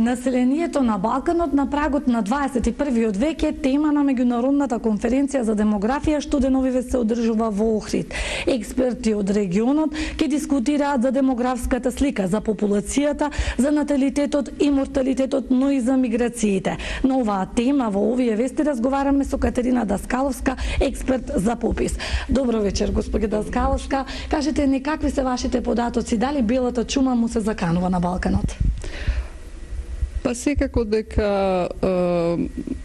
Населението на Балканот на прагот на 21. век е тема на меѓународната конференција за демографија што деновиве се одржува во Охрид. Експерти од регионот ќе дискутираат за демографската слика, за популацијата, за наталитетот и морталитетот, но и за миграциите. На оваа тема во овие вести разговараме со Катерина Даскаловска, експерт за попис. Добро вечер, господи Даскаловска. Кажете ни какви се вашите податоци, дали белата чума му се заканува на Балканот? Па секако дека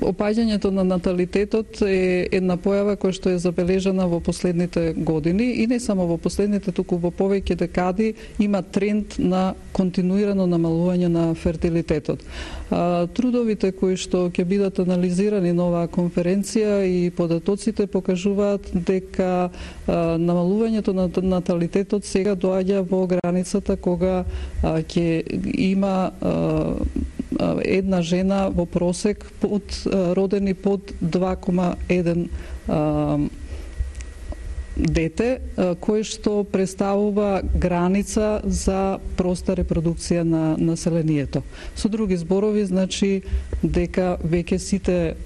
опаѓањето на наталитетот е една појава која што е забележана во последните години и не само во последните, туку во повеќе декади има тренд на континуирано намалување на фертилитетот. Трудовите кои што ќе бидат анализирани на оваа конференција и податоците покажуваат дека намалувањето на наталитетот сега доаѓа во границата кога ќе има една жена во просек родени под 2,1 дете, кој што представува граница за проста репродукција на населението. Со други зборови, значи дека веќе сите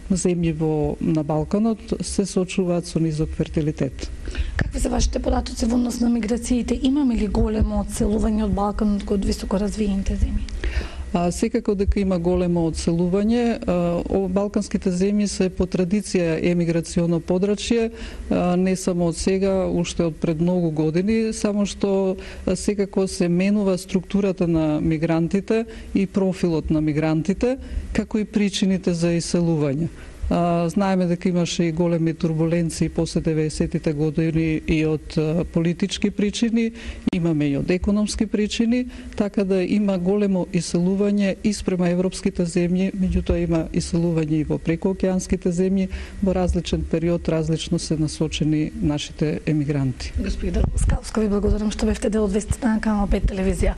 земји на Балканот се соочуваат со низок фертилитет. Какви се вашите податоци во однос на миграциите? Имаме ли големо одселување од Балканот од високо развиените земји? Секако дека има големо одселување. Балканските земји се по традиција емиграционо подрачје, не само од сега, уште од пред многу години, само што секако се менува структурата на мигрантите и профилот на мигрантите, како и причините за иселување. Знаеме дека имаше и големи турбуленции после 90-тите години и од политички причини, имаме и од економски причини, така да има големо иселување и спрема европските земји, меѓутоа има иселување и во прекоокеанските земји, во различен период различно се насочени нашите емигранти. Господи Даскаловска, ви благодарам што бевте дел од вестите на Канал 5 телевизија.